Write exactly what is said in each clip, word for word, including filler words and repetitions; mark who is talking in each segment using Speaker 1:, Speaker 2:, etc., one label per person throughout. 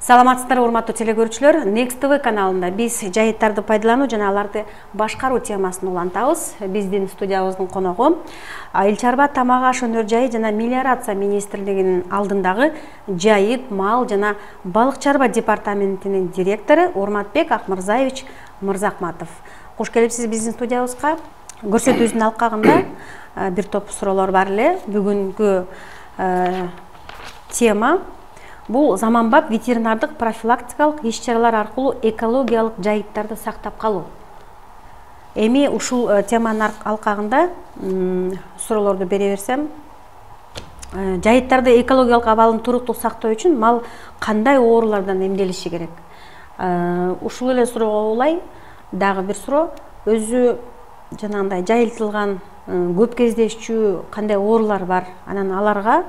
Speaker 1: Саламатсыздар, урматтуу телекөрүүчүлөр. Next T V каналында биз жайыттарды пайдалануу жана аларды башкаруу темасын улантабыз. Биздин студиябыздын коногу Эл чарба, тамак аш өнөр жайы жана мелиорация министрлигинин алдындагы жайыт, мал жана балык чарба департаментинин директору Урматбек Акмырзаевич Мырзахматов. Куш келипсиз биздин студиябызга. Көрсөтүүбүздүн алкагында бир топ суроолор бар эле. Бүгүнкү тема бул заманбап ветеринардык профилактикалык иш-чаралар аркылуу экологиялык жайыттарды сактап калуу. Эми ушул теманын алкагында суроолорду бере берсем, жайыттарды экологиялык абалын туруктуу сактоо үчүн мал кандай оорулардан эмделиши керек? Ушул эле суроого улай дагы бир суроо, өзү жанагындай жайылтылган көп кездешчү кандай оорулар бар? Анан аларга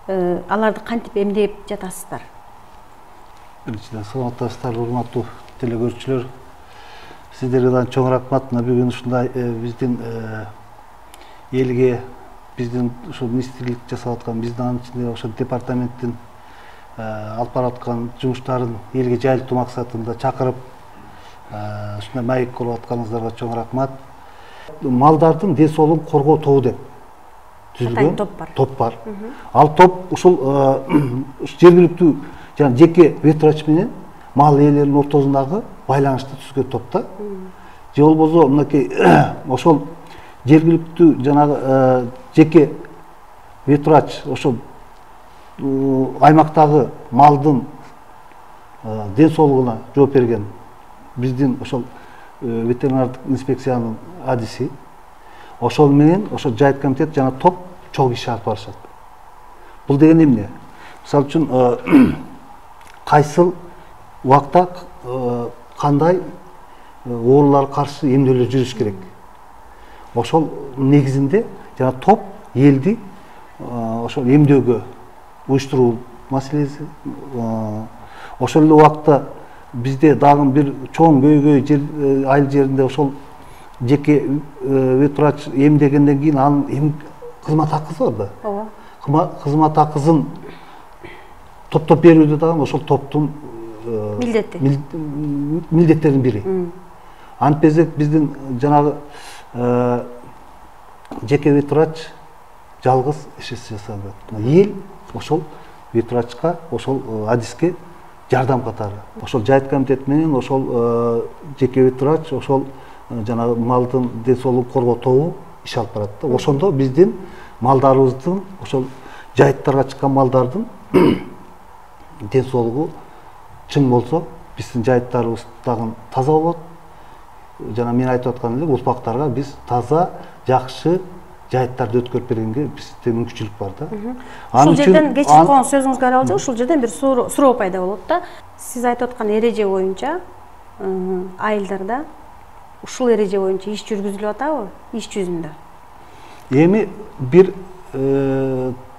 Speaker 1: аларды кантип эмдеп жатасыздар?
Speaker 2: Биринчиден саламатсыздар, урматтуу телекөрүүчүлөр. Сиздерге да чоң рахмат. Бүгүн ушундай биздин элге, биздин ушул министрлик жасап аткан, биздин анын ичинде ошо департаменттин алып бараткан жумуштарын элге жайылтуу максатында чакырып, ушундай маек болуп атканыңыздарга чоң рахмат. Малдардын ден соолугун коргоо тобу деп түзүлгөн топ бар. Ал топ ушул жергиликтүү жана жеке ветврач менен мал ээлеринин ортосундагы байланышты түзгөн топта. Же болбосо мынакей ошол жергиликтүү жанагы жеке ветврач ошол аймактагы малдын ден соолугуна жооп берген биздин ошол ветеринардык инспекциянын адиси, ошол менен ошол жайыт комитет жана топ чогуу иш алып барышат. Бул деген эмне? Мисалы үчүн кайсыл убакта кандай ооруларга каршы эмделүү жүрүш керек. Ошол негизинде жана топ элди ошол эмдөөгө уюштуруу маселеси. Ошол эле убакта бизде дагы бир чоң көйгөй жер айыл жеринде ошол жеке ветврач эмдегенден кийин анын кызмат акысы бар да. Ооба. Кызмат акысын топтоп берүүдө дагы ошол топтун милдети. Милдеттердин бири. Антпезек биздин жанагы жеке ветврач жалгыз иш жасабайт. Эл ошол ветврачка, ошол адиске жардам катары. Ошол жайыт комитет менен ошол жеке ветврач ошол жанагы малдын ден соолугун коргоо тобу иш алып барат да. Ошондо биздин малдарыбыздын, ошол жайыттарга чыккан малдардын ден соолугу чың болсо, биздин жайыттарыбыз дагы таза болот. Жана мен айтып аткан эле урпактарга биз таза, жакшы жайыттарды өткөрүп бергенге бизде мүмкүнчүлүк бар да.
Speaker 1: Ушул жерден кечип койгон сөзүңүзгө аралап, ушул жерден бир суроо пайда болот да. Сиз айтып аткан эреже боюнча айылдарда ушул эреже боюнча иш жүргүзүлүп атабы, иш жүзүндө?
Speaker 2: Эми бир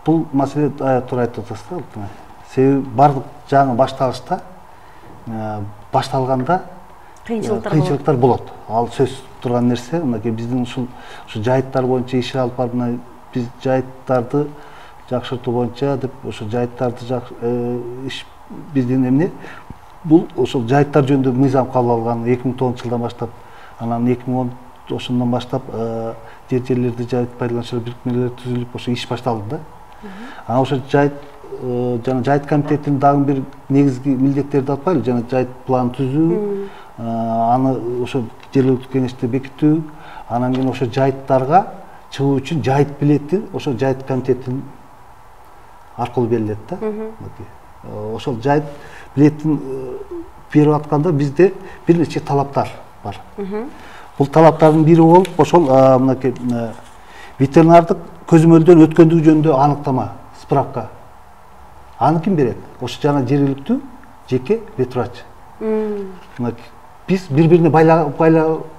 Speaker 2: бул маселе туура айтып атасыздар. Себеби бардык жаңы башталышта башталганда кыйынчылыктар болот. Ал сөз турган нерсе. Мынакей биздин ушул ушу жайыттар боюнча иш алып барып, биз жайыттарды жакшыртуу боюнча деп ошо жайыттарды иш биздин эмне? Бул ошол жайыттар жөнүндө мыйзам кабыл алган эки миң тогузунчу жылдан баштап, анан эки миң он ошондон баштап жер жерлерди жайыт пайдалануучулар бирикмелери түзүлүп ошо иш башталды да. Анан ошо жайыт жана жайыт комитетинин дагы бир негизги милдеттерди атпайлы, жана жайыт план түзүү, аны ошо жергиликтүү кеңеште бекитүү, анан кийин ошо жайыттарга чыгуу үчүн жайыт билети ошо жайыт комитетинин аркылуу берилет да. Ошол жайыт билетин берип атканда бизде бир нече талаптар бар. Бул талаптардын бири болуп ошол мынакей ветеринардык көзөмөлдөн өткөндүгү жөнүндө аныктама, справка. Аны ким берет? Ошо жана жергиликтүү жеке ветврач. Биз бири-бирине байлап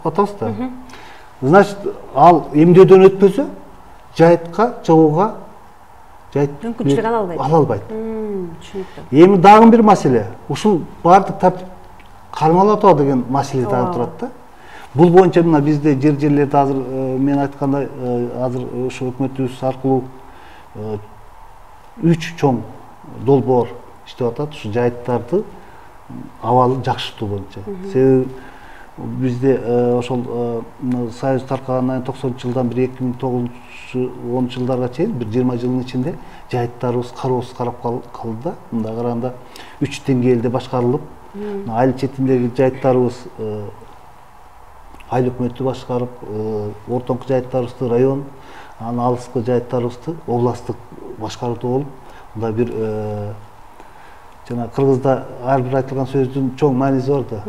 Speaker 2: атабыз да. Значит, ал эмдөөдөн өтпөсө, жайытка чыгууга жайыт мүмкүнчүлүк ала албайт. Ала албайт. Түшүнүктүү. Эми дагы бир маселе. Ушул бардык тартип кармалып атабы деген маселе дагы турат да. Бул боюнча мына бизде жер жерлерде азыр мен айткандай азыр ошо өкмөтүбүз аркылуу үч чоң долбоор иштеп атат ушу жайыттарды абалын жакшыртуу боюнча. Себеби бизде ошол Союз таркагандан токсонунчу жылдан бир эки миң тогузунчу онунчу жылдарга чейин бир жыйырма жылдын ичинде жайыттарыбыз кароосуз карап калды да. Мындай караганда үч деңгээлде башкарылып, айыл четиндеги жайыттарыбыз айыл өкмөтү башкарып, ортоңку жайыттарыбызды район, анан алыскы жайыттарыбызды областтык башкаруу болуп, мындай бир жана кыргызда ар бир айтылган сөздүн чоң мааниси бар да.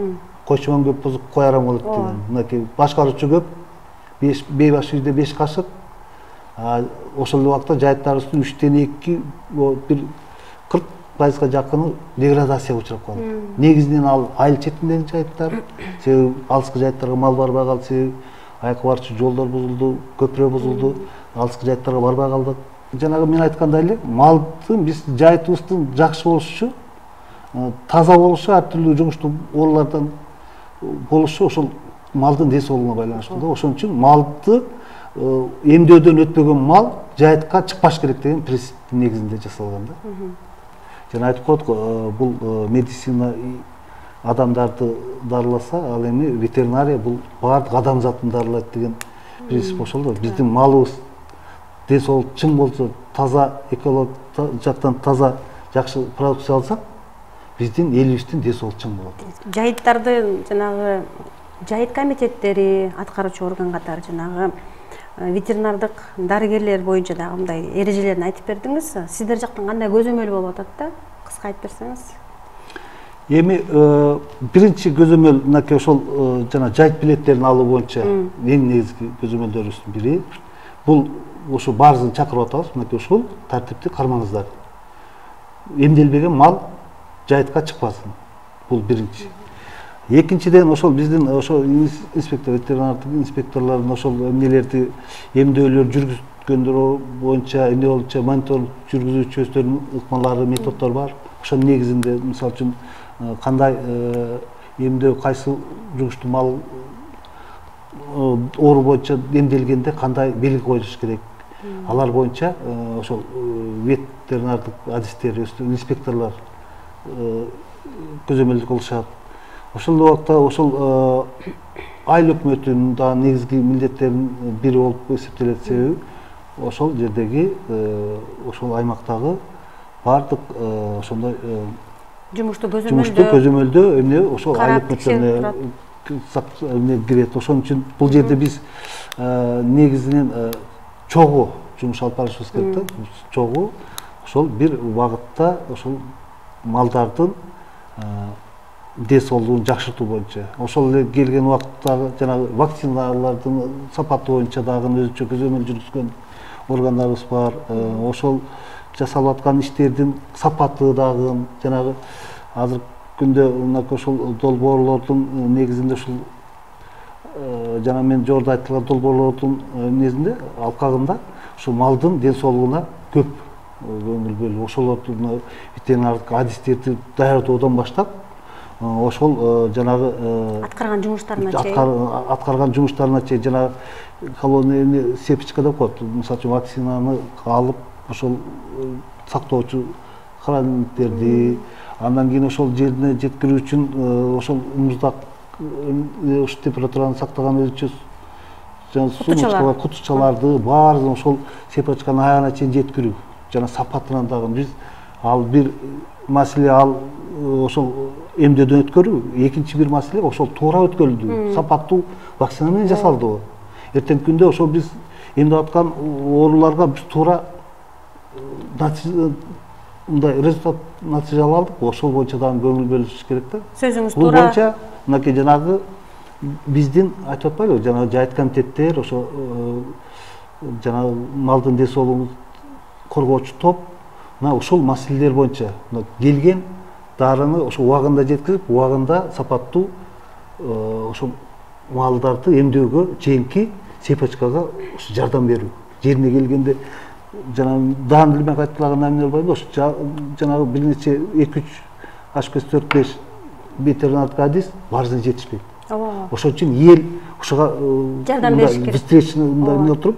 Speaker 2: Кочмон көп бузуп кой арам болот деген. Мынакей башкаруучу көп, бей баш үйдө беш кашык. Ошол убакта жайыттарыбыздын үчтөн эки бир кырк пайызга жакыны деградацияга учурап калды. Негизинен ал айыл четиндеги жайыттар, себеби алыскы жайыттарга мал барбай калды, себеби аякка барчу жолдор бузулду, көпүрө бузулду, алыскы жайыттарга барбай калдык. Жанагы мен айткандай эле, малдын биз жайытыбыздын жакшы болушу, таза болушу, ар түрдүү жугуштуу оорулардан болушу ошол малдын ден соолугуна байланыштуу да. Ошон үчүн малды эмдөөдөн өтпөгөн мал жайытка чыкпаш керек деген принциптин негизинде жасалган да. Жана айтып коет го, бул медицина адамдарды дарыласа, ал эми ветеринария бул баардык адамзатын дарылайт деген принцип ошол да. Биздин малыбыз ден соолук чың болсо, таза экологик жактан таза жакшы продукция алсак, биздин элибиздин ден соолугу чың болот.
Speaker 1: Жайыттарды жанагы жайыт комитеттери, аткаруучу орган катары жанагы ветеринардык дарыгерлер боюнча дагы мындай эрежелерин айтып бердиңиз. Сиздер жактан кандай көзөмөл болуп атат да? Кыска айтып берсеңиз.
Speaker 2: Эми биринчи көзөмөл мынакей ошол жана жайыт билеттерин алуу боюнча эң негизги көзөмөлдөрүбүздүн бири бул ошо баарыбызды чакырып атабыз, мынакей ушул тартипти кармаңыздар. Эмделбеген мал жайытка чыкпасын. Бул биринчи. Экинчиден ошол биздин ошол инспектор, ветеринардык инспекторлордун ошол эмнелерди эмдөөлөр жүргүзгөндөр боюнча, эмне болчу мониторинг жүргүзүүчү өздөрүнүн ыкмалары, методдору бар. Ошонун негизинде мисалы үчүн кандай эмдөө, кайсы жугуштуу мал оору боюнча эмделгенде кандай белги коюлуш керек. Алар боюнча ошол ветеринардык адистер, инспекторлор көзөмөлдү кылышат. Ошол убакта ошол айыл өкмөтүнүн да негизги милдеттеринин бири болуп эсептелет, себеби ошол жердеги ошол аймактагы баардык ошондой
Speaker 1: жумушту көзөмөлдөө
Speaker 2: жумушту көзөмөлдөө эмне ошол айыл өкмөтүнө эмне кирет. Ошон үчүн бул жерде биз негизинен чогуу жумуш алып барышыбыз керек да. Чогуу ошол бир убакытта ошол малдардын ден соолугун жакшыртуу боюнча. Ошол эле келген убакыттагы жанагы вакциналардын сапаты боюнча дагы өзүнчө көзөмөл жүргүзгөн органдарыбыз бар. Ошол жасалып аткан иштердин сапаты дагы жанагы азыркы күндө мынакей ошол долбоорлордун негизинде ушул жана мен жогоруда айтылган долбоорлордун эмнесинде алкагында ушул малдын ден соолугуна көп көңүл бөлүп, ошолордун ветеринардык адистерди даярдоодон баштап ошол жанагы
Speaker 1: аткарган жумуштарына чейин
Speaker 2: аткарган жумуштарына чейин жанагы колония сепочка деп коет. Мисалы үчүн вакцинаны алып, ошол сактоочу храниликтерди, андан кийин ошол жерине жеткирүү үчүн ошол муздак ушу температураны сактаган өзүнчө сумочкалар, кутучаларды баарын ошол сепочканын аягына чейин жеткирүү жана сапатынан дагы биз ал бир маселе ал ошол эмдөөдөн өткөрүү, экинчи бир маселе ошол туура өткөрүлдү, сапаттуу вакцина менен жасалдыбы. Эртеңки күндө ошол биз эмдеп аткан ооруларга биз туура мындай результат натыйжа алдык, ошол боюнча дагы көңүл бөлүш керек да.
Speaker 1: Сөзүңүз туура.
Speaker 2: Бул боюнча мынакей жанагы биздин айтып атпайлыбы, жанагы жайыт комитеттер, ошо жанагы малдын ден соолугун коргоочу топ мына ошол маселелер боюнча келген дарыны ошо убагында жеткирип, убагында сапаттуу ошол малдарды эмдөөгө чейинки сепочкага жардам берүү. Жерине келгенде жана даан билмек айтылган эмне болбойбу, ошо жанагы бир нече эки үч аш беш төрт беш ветеринардык адис баарысына жетишпейт. Ошон үчүн эл ошого
Speaker 1: жардам бериш керек.
Speaker 2: Встречный мындай эмне отуруп,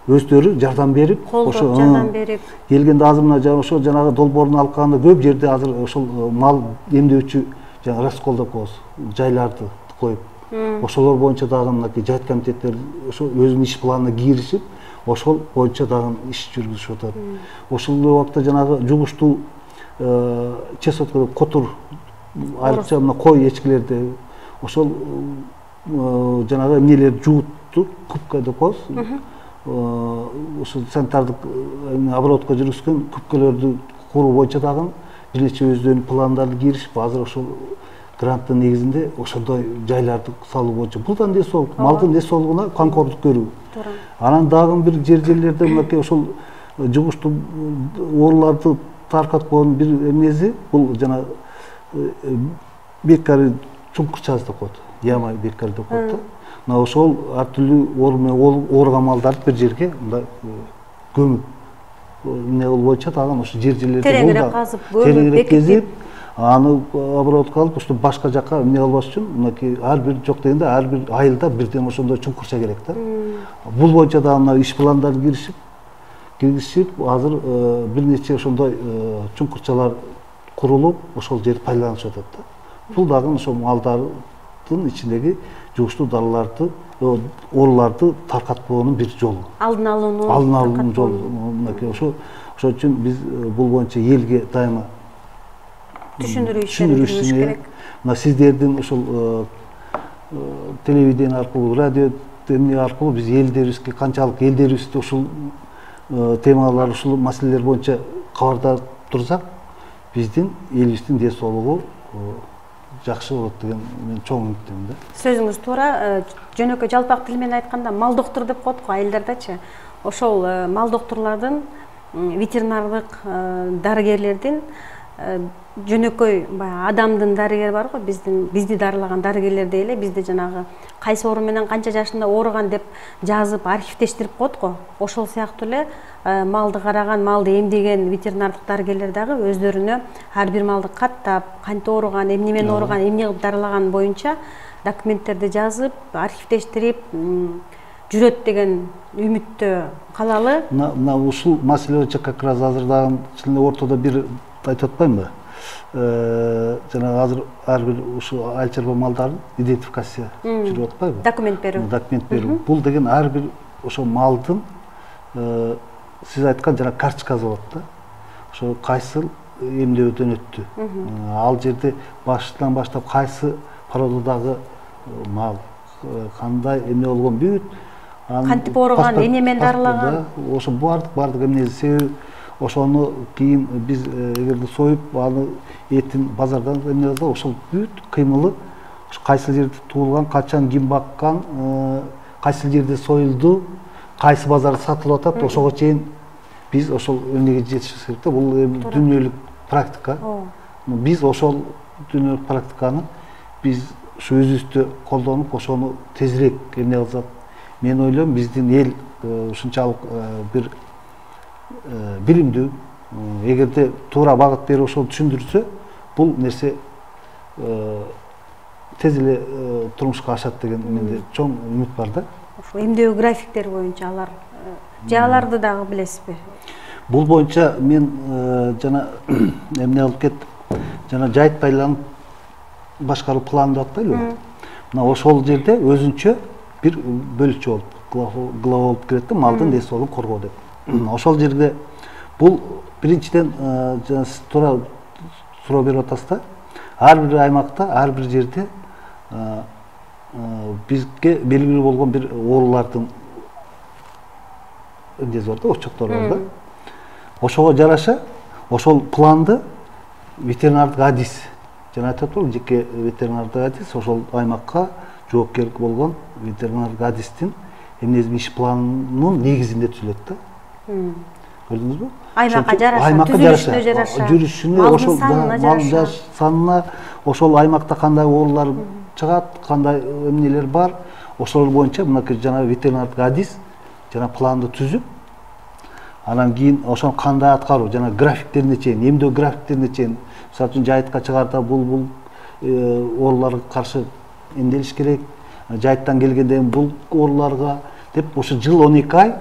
Speaker 2: өздөрү жардам берип,
Speaker 1: колдоп жардам берип
Speaker 2: келгенде азыр мына ошо жанагы долбоорун алканда көп жерде азыр ошол мал эмдөөчү жаңы раскол деп коебуз, жайларды коюп, ошолор боюнча дагы мынакей жайыт комитеттери ошо өзүнүн иш планына киришип, ошол боюнча дагы иш жүргүзүшүп атат. Ошол убакта жанагы жугуштуу чесотка деп котур, айрыкча мына кой эчкилерди ошол жанагы эмнелерди жуутту, кубка деп коебуз. Ошо санитардык оборотко жүргүзгөн күпкөлөрдү куруу боюнча дагы бир нече өздөрүнүн пландарды киришип, азыр ошол гранттын негизинде ошондой жайларды салуу боюнча бул да ден соолук, малдын ден соолугуна камкордук көрүү. Анан дагы бир жер жерлерде мынакей ошол жугуштуу ооруларды таркаткан бир эмнеси бул жана бекари чуңкурчасы деп коет, яма бекари деп коет да. Мына ошол ар түрдүү оору менен ооруган малдарды бир жерге мындай көмүп эмне кылуу боюнча дагы ошо жер жерлерде
Speaker 1: тереңирээк казып, көмүп бекитип,
Speaker 2: аны оборотко алып, ошо башка жака эмне кылбаш үчүн мынакей ар бир жок дегенде ар бир айылда бирден ошондой чуңкурча керек да. Бул боюнча дагы мына иш пландары киришип, киргизишип, азыр бир нече ошондой чуңкурчалар курулуп, ошол жерди пайдаланышып атат да. Бул дагы ошо малдардын ичиндеги жугуштуу дарыларды, ооруларды таркатпоонун бир жолу.
Speaker 1: Алдын алуунун
Speaker 2: алдын алуунун жолу. Мынакей ошо ошол үчүн биз бул боюнча элге дайыма
Speaker 1: түшүндүрүү ишин жүргүзүш керек.
Speaker 2: Мына сиздердин ошол телевидение аркылуу, радио эмне аркылуу биз элдерибизге канчалык элдерибизди ушул темалар, ушул маселелер боюнча кабардар турсак, биздин элибиздин ден соолугу жакшы болот деген мен чоң үмүттөмүн да.
Speaker 1: Сөзүңүз туура, жөнөкөй жалпак тил менен айтканда мал доктор деп коет го айылдардачы. Ошол мал докторлордун, ветеринардык дарыгерлердин жөнөкөй баягы адамдын дарыгери бар го, биздин бизди дарылаган дарыгерлердей эле бизде жанагы кайсы оору менен канча жашында ооруган деп жазып архивдештирип коет го. Ошол сыяктуу эле малды караган, малды эмдеген ветеринардык дарыгерлер дагы өздөрүнө ар бир малды каттап, кантип ооруган, эмне менен ооруган, эмне кылып дарылаган боюнча документтерди жазып, архивдештирип жүрөт деген үмүттө калалы.
Speaker 2: Мына ушул маселе боюнча как раз азыр дагы ортодо бир айтып атпаймынбы? Жана азыр ар бир ушул айыл чарба малдарын идентификация жүрүп атпайбы?
Speaker 1: Документ берүү.
Speaker 2: Документ берүү. Бул деген ар бир ошо малдын сиз айткан жана карточкасы болот да. Ошо кайсы эмдөөдөн өттү. Ал жерде башынан баштап кайсы породадагы мал, кандай эмне болгон бүт,
Speaker 1: кантип ооруган, эмне менен дарылаган.
Speaker 2: Ошо бардык бардык эмнеси, себеби ошону кийин биз эгерде союп, аны этин базардан эмне кылса, ошол бүт кыймылы кайсы жерде туулган, качан ким баккан, кайсы жерде союлду, кайсы базарда сатылып атат, ошого чейин биз ошол эмнеге жетишибиз керек да. Бул дүйнөлүк практика. Биз ошол дүйнөлүк практиканы биз ушу өзүбүздө колдонуп, ошону тезирээк эмне кылсак, мен ойлойм биздин эл ушунчалык бир билимдүү, эгерде туура багыт берип ошол түшүндүрсө, бул нерсе тез эле турмушка ашат деген менде чоң үмүт бар да.
Speaker 1: Ошо эмдөө графиктери боюнча алар же аларды дагы билесизби?
Speaker 2: Бул боюнча мен жана эмне кылып кеттим, жана жайыт байланып башкаруу планы деп атпайлыбы? Мына ошол жерде өзүнчө бир бөлүкчө болуп, глава болуп кирет да, малдын ден соолугун коргоо деп. Ошол жерде бул биринчиден жана сиз туура суроо берип атасыз да, ар бир аймакта, ар бир жерде бизге белгилүү болгон бир оорулардын эмнеси бар да, очоктору бар да. Ошого жараша ошол планды ветеринардык адис, жана айтып атпаймынбы, жеке ветеринардык адис ошол аймакка жоопкерлик болгон ветеринардык адистин эмнеси иш планынын негизинде түзүлөт да. Көрдүңүзбү?
Speaker 1: Аймакка жараша, түзүлүшүнө жараша,
Speaker 2: жүрүшүнө, ошол малдын санына, ошол аймакта кандай оорулар чыгат, кандай эмнелер бар, ошолор боюнча мынакей жана ветеринардык адис жана планды түзүп, анан кийин ошону кандай аткаруу жана графиктерине чейин, эмдөө графиктерине чейин, мисалы үчүн жайытка чыгаарда бул бул ооруларга каршы эмделиш керек, жайыттан келгенде бул ооруларга деп ошо жыл он эки ай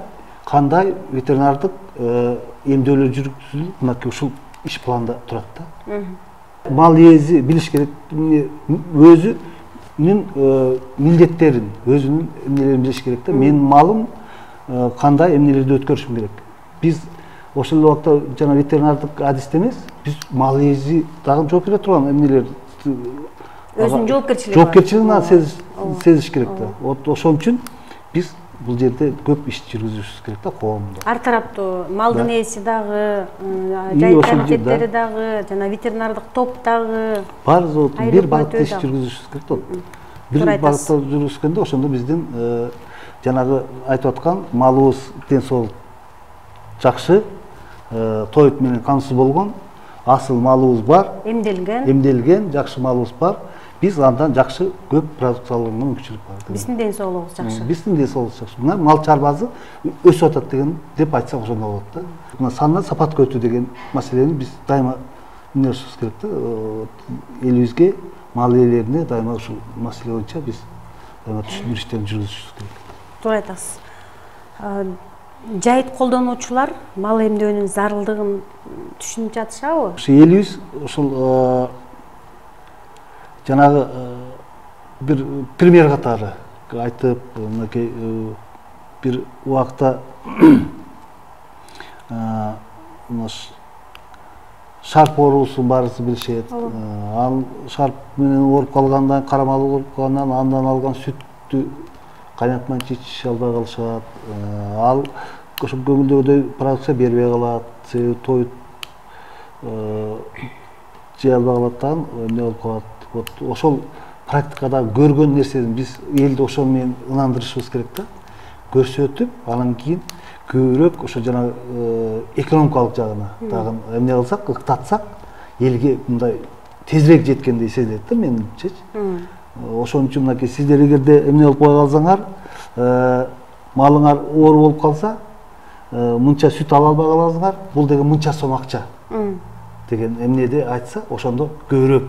Speaker 2: кандай ветеринардык эмдөөлөр жүргүзүлүп, мынакей ушул иш планда турат да. Мал ээси билиш керек өзүнүн милдеттерин, өзүнүн эмнелерин билиш керек да. Менин малым кандай эмнелерди өткөрүшүм керек. Биз ошол эле убакта жана ветеринардык адисте эмес, биз мал ээси дагы жооп бере турган эмнелер
Speaker 1: өзүнүн жоопкерчилиги
Speaker 2: жоопкерчилигин сезиш керек да. Вот ошон үчүн биз бул жерде көп иш жүргүзүшүбүз керек да коомдо.
Speaker 1: Ар тараптуу малдын ээси дагы, жай комитеттери дагы, жана ветеринардык топ дагы
Speaker 2: бар бир багытта иш жүргүзүшүбүз керек да. Бир багытта жүргүзгөндө ошондо биздин жанагы айтып аткан малыбыз ден соолук жакшы, тоют менен камсыз болгон, асыл малыбыз бар,
Speaker 1: эмделген,
Speaker 2: эмделген, жакшы малыбыз бар. Биз андан жакшы көп продукциялык мүмкүнчүлүк бар.
Speaker 1: Биздин ден соолугубуз жакшы.
Speaker 2: Биздин ден соолугубуз жакшы. Мына мал чарбасы өсүп атат деген деп айтсак ошондо болот да. Мына сандан сапатка өтүү деген маселени биз дайыма эмнелешибиз керек да. Элибизге, мал ээлерине дайыма ушул маселе боюнча биз дайыма түшүндүрүү иштерин жүргүзүшүбүз керек.
Speaker 1: Туура айтасыз. Жайыт колдонуучулар мал эмдөөнүн зарылдыгын түшүнүп жатышабы?
Speaker 2: Ошо элибиз ушул жанагы бир пример катары айтып, мынакей бир убакта шарп оорусун баарыбыз билишет. Ал шарп менен ооруп калгандан, кара мал ооруп калгандан андан алган сүттү кайнатмай ичише албай калышат. Ал ошо көңүлдөгүдөй продукция бербей калат, себеби тоют жей албай калат да, эмне болуп калат. Вот ошол практикада көргөн нерсени биз элди ошол менен ынандырышыбыз керек да. Көрсөтүп, анан кийин көбүрөөк ошо жана экономикалык жагына дагы эмне кылсак, ыктатсак, элге мындай тезирээк жеткендей сезилет да менимчечи. Ошон үчүн мынакей сиздер эгерде эмне болуп кой калсаңар, малыңар оору болуп калса, мынча сүт ала албай каласыңар, бул деген мынча сом акча деген эмнеде айтса, ошондо көбүрөөк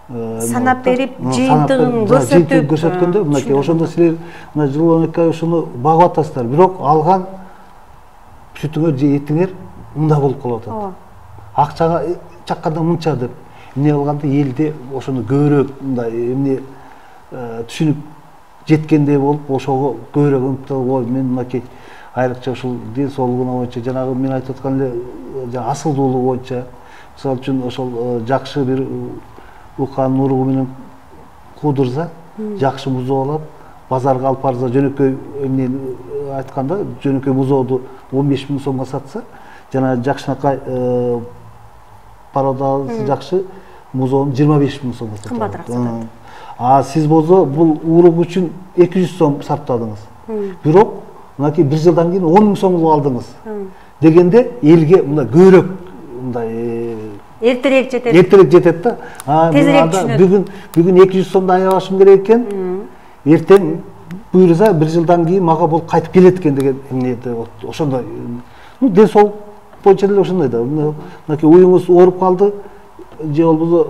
Speaker 1: санап берип, жыйынтыгын көрсөтүп
Speaker 2: көрсөткөндө, мынакей ошондо силер мына жыл он эки ай ошону багып атасыздар, бирок алган сүтүңөр же этиңер мында болуп калып атат. Акчага чакканда мынча деп эмне кылганда элде ошону көбүрөөк мындай эмне түшүнүп жеткендей болуп, ошого көбүрөөк ынтылып, ой, мен мынакей айрыкча ушул ден соолугуна боюнча, жанагы мен айтып аткан эле асылдуулугу боюнча, мисалы үчүн ошол жакшы бир укан уругу менен куудурса, жакшы бузоо алат, базарга алып барса, жөнөкөй эмнени айтканда, жөнөкөй бузооду он беш миң сомго сатса, жана жакшынакай породасы жакшы бузоону жыйырма беш миң сомго сатат.
Speaker 1: Кымбатыраак сатат.
Speaker 2: А сиз болсо бул урук үчүн эки жүз сом сарптадыңыз. Бирок мынакей бир жылдан кийин он миң сомго алдыңыз. Дегенде элге мындай көбүрөөк мындай
Speaker 1: эртерээк жетет.
Speaker 2: Эртерээк жетет да.
Speaker 1: Тезирээк түшүнөт.
Speaker 2: Бүгүн бүгүн эки жүз сомдон аябашым керек экен. Эртең буйрса бир жылдан кийин мага бул кайтып келет экен деген эмнеде ошондой. Ну, ден соолук боюнча деле ошондой да. Мынакей уюңуз ооруп калды, же болбосо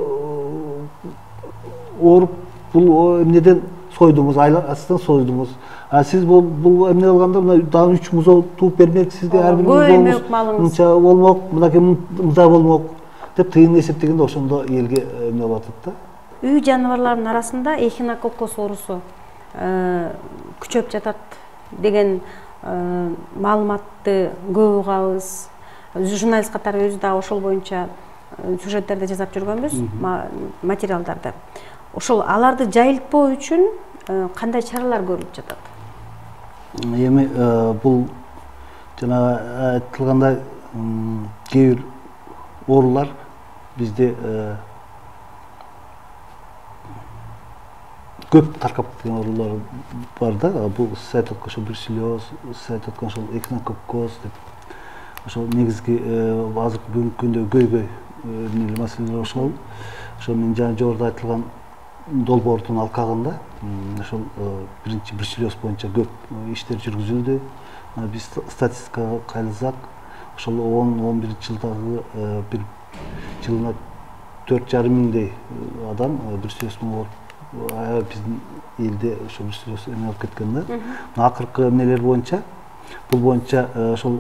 Speaker 2: ооруп бул эмнеден сойдуңуз, айласынан сойдуңуз. А сиз бул бул эмне кылганда мына дагы үч музоо тууп бермек сизге, ар бир музоңуз мынча болмок, мынакей мындай болмок деп тыйын эсептегенде ошондо элге эмне болуп атат да.
Speaker 1: Үй жаныбарларынын арасында эхинококкус оорусу күчөп жатат деген маалыматты көп угабыз. Журналист катары өзү да ошол боюнча сюжеттерди жасап жүргөнбүз, материалдарды. Ошол аларды жайылтпоо үчүн кандай чаралар көрүлүп жатат?
Speaker 2: Эми бул жана айтылгандай кээ бир оорулар бизде көп таркап кеткен оорулар бар да. Бул сиз айтып аткан ошо бруцеллез, сиз айтып аткан ошол эхинококкоз деп. Ошол негизги азыркы бүгүнкү күндө көйгөй эмне маселелер ошол. Ошо мен жана жогоруда айтылган долбоордун алкагында ошол биринчи бруцеллез боюнча көп иштер жүргүзүлдү. Биз статистикага кайрылсак, ошол он он биринчи жылдагы бир жылына төрт жарым миңдей адам бруцеллез менен ооруп, биздин элде ошо бруцеллез эме болуп кеткен да. Акыркы эмнелер боюнча бул боюнча ошол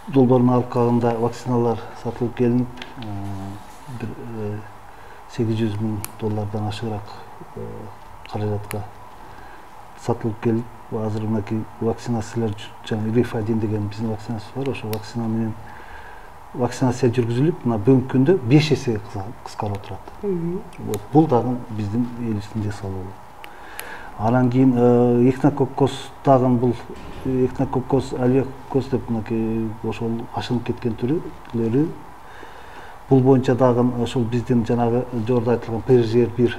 Speaker 2: долбоордун алкагында вакциналар сатылып келинип, бир сегиз жүз миң доллардан ашыгыраак каражатка сатылып келип, азыр мынакей вакцинациялар жаңы Рифадин деген биздин вакцинасы бар, ошол вакцина менен вакцинация жүргүзүлүп, мына бүгүнкү күндө беш эсе кыскарып отурат. Вот бул дагы биздин элибиздин жасалуу. Анан кийин эхинококкоз дагы бул эхинококкоз алиококкоз деп мынакей ошол ашынып кеткен түрлөрү. Бул боюнча дагы ошол биздин жанагы жогоруда айтылган ПРЖР бир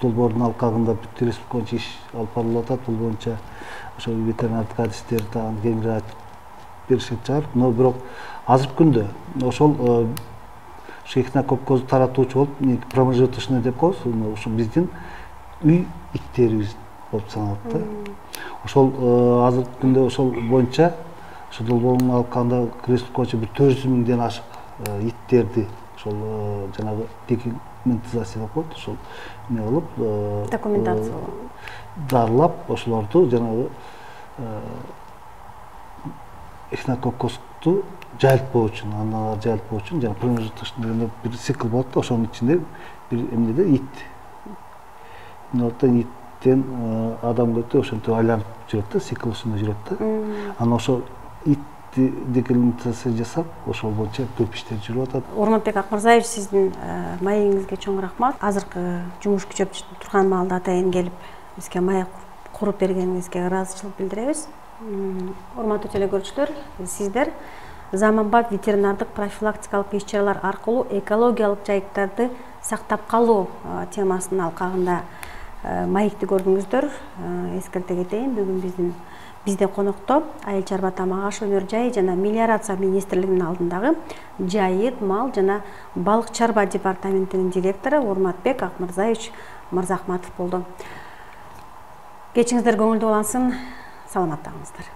Speaker 2: долбоордун алкагында бүт республика боюнча иш алып барылып атат. Бул боюнча ошол ветеринардык адистер дагы кеңири айтып беришет чыгар. Но бирок азыркы күндө ошол ошо эхинококкозду таратуучу болуп промежуточный деп коебуз, ошо биздин үй иттерибиз болуп саналат да. Ошол азыркы күндө ошол боюнча ошол долбоордун алкагында республика боюнча бир төрт жүз миңден ашык иттерди ошол жанагы документизация деп коет, ошол эме кылып
Speaker 1: документация
Speaker 2: дарылап ошолорду жанагы эхинококкозду жайылтпоо үчүн, аналар жайылтпоо үчүн жана промежуточный бир цикл болот да, ошонун ичинде бир эмнеде ит. Мындан иттен адамга өтүп ошентип айланып жүрөт да, цикл ушундай жүрөт да. Анан ошол ит декомментация жасап, ошол боюнча көп иштер жүрүп атат.
Speaker 1: Орматбек Акмырзаевич, сиздин маегиңизге чоң рахмат. Азыркы жумуш күчөп турган маалда атайын келип, бизге маек куруп бергениңизге ыраазычылык билдиребиз. Урматтуу телекөрүүчүлөр, сиздер заманбап ветеринардык профилактикалык иш-чаралар аркылуу экологиялык жайыттарды сактап калуу темасынын алкагында маекти көрдүңүздөр. Эскерте кетейин, бүгүн биздин бизде конокто Айыл чарба тамак аш өнөр жайы жана мелиорация министрлигинин алдындагы жайыт, мал жана балык чарба департаментинин директору Урматбек Акмырзаевич Мырзахматов болду. Кечиңиздер көңүлдүү улансын, саламаттаңыздар.